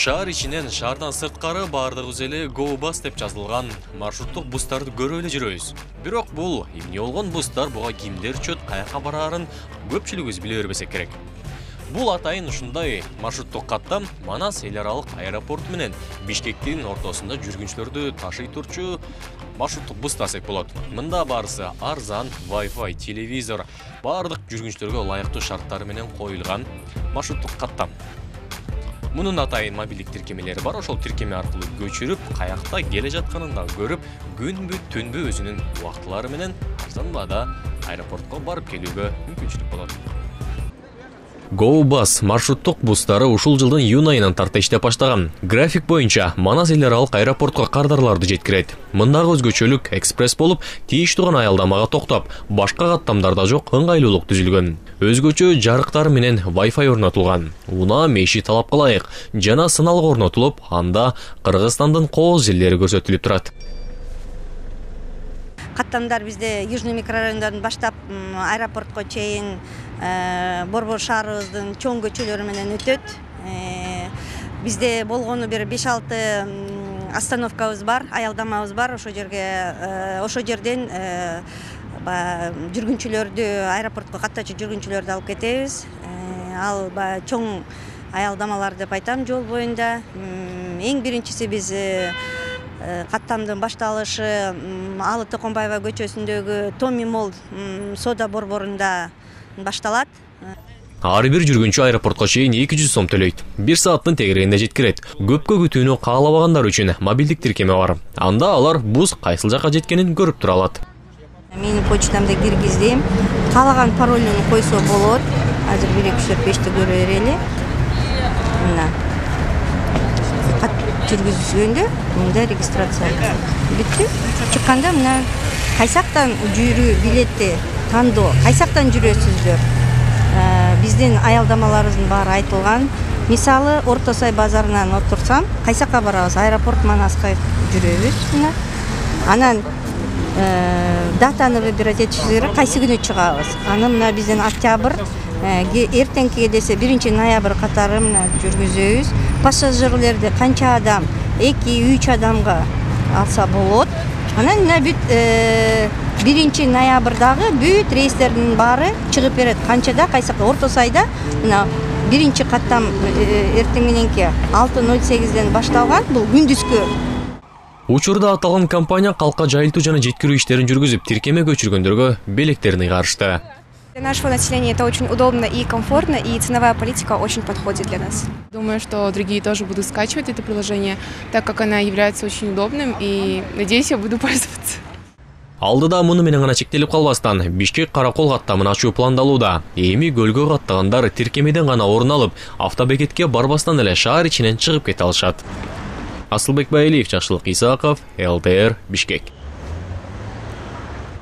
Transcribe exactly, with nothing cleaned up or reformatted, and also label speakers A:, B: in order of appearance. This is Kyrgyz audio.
A: Шаар ичинен, шаардан сырткары баардыгыбыз эле Go Bus деп жазылган маршруттук бустарды көрүп эле жүрөбүз. Бирок бул эмне болгон бустар, буга кимдер чөт, каяка бараарын көпчүлүгүбүз биле бербесек керек. Бул атайын ушундай маршруттук каттам Манас эл аралык аэропорту менен Бишкектин ортосунда жүргүнчүлөрдү ташый турчу маршруттук бус десек болот. Мында барысы арзан, Wi-Fi, телевизор, баардык жүргүнчүлөргө ылайыктуу шарттары менен коюлган маршруттук каттам. Мунун атайын мобилдик тиркемелери бар, ошол тиркеме аркылуу көчүрүп, каякта келе жатканын да көрүп, күнбү түнбү өзүнүн убактылары менен арзан баада аэропортко барып келүүгө мүмкүнчүлүк болот. Go Bus маршруттук бустары ушул жылдын июнь айынан тарта иштеп баштаган. График боюнча Манас эл аралык аэропортко кардарларды жеткирет. Мындагы өзгөчөлүк экспресс болуп, тийиштүү гана аялдамага токтоп, башка каттамдарда жок ыңгайлуулук түзүлгөн. Өзгөчө жарыктар менен Wi-Fi орнотулган. Унаа меши талапка ылайык жана сыналгы орнотулуп, анда Кыргызстандын кооз жерлери көрсөтүлүп турат.
B: Каттамдар бизде Южный микрорайонунан баштап аэропортко чейин Борбор шаарыбыздын чоң көчөлөрү менен өтөт. Бизде болгону бир беш алты остановкабыз бар, аялдамабыз бар. Ошо жерге, ошо жерден жүргүнчүлөрдү, аэропортко каттачу жүргүнчүлөрдү алып кетебиз. Ал чоң аялдамалар деп айтам жол боюнда. Эң биринчиси биз каттамдын башталышы Алы Токонбаева көчөсүндөгү Томи Молл соода борборунда башталат.
A: Ар бир жүргүнчү аэропортко чейин эки жүз сом төлөйт. бир сааттын тегерегинде жеткирет. Көпкө күтүүнү каалабагандар үчүн мобилдик тиркеме бар. Анда алар бус кайсыл жака жеткенин көрүп тура алат.
B: Менин почтамда киргиздим. Каалаган паролун койсо болот. Азыр бир эки үч төрт бешти көрө берели. Мына. Кат жүргүзгөндө мында регистрация бүтү. Чыкканда мына кайсактан жүрүү билетти тандоо, кайсактан жүрөсүздөр. Биздин аялдамаларыбыздын баары айтылган. Мисалы, Орто Сай базарынан отурсам, кайсакка барабыз? Аэропорт Манаска жүрөбүз. Анан датаны выбирать этишибиз керек, кайсы күнү чыгабыз. Аны мына биздин октябрь, эртеңки десе биринчи ноябрь катары мына жүргүзөбүз. Пассажирлерди канча адам, эки үч адамга алса болот. Анан мына бүт биринчи ноябрдагы бүт рейстердин баары чыгып берет. Канчада, кайсакта, Орто Сайда мына биринчи каттам эртең мененки алты ноль сегизден башталган, бул күндүзгү.
A: Учурда аталган компания калкка жайылтуу жана жеткирүү иштерин жүргүзүп, тиркеме көчүргөндөргө белектерин ыйгарышты.
C: Для нашего населения это очень удобно и комфортно, и ценовая политика очень подходит для нас. Думаю, что другие тоже будут скачивать это приложение, так как она является очень удобным, и надеюсь, я буду пользоваться.
A: Алдыда муну менен гана чектелип калбастан, Бишкек Каракол каттамын ачуу пландалууда. Эми көлгө каттагандар тиркемеден гана орун алып, автобекетке барбастан эле шаар ичинен чыгып кете алышат. Асылбек Байлиев, Жакшылык Исаков, эл тэ эр, Бишкек.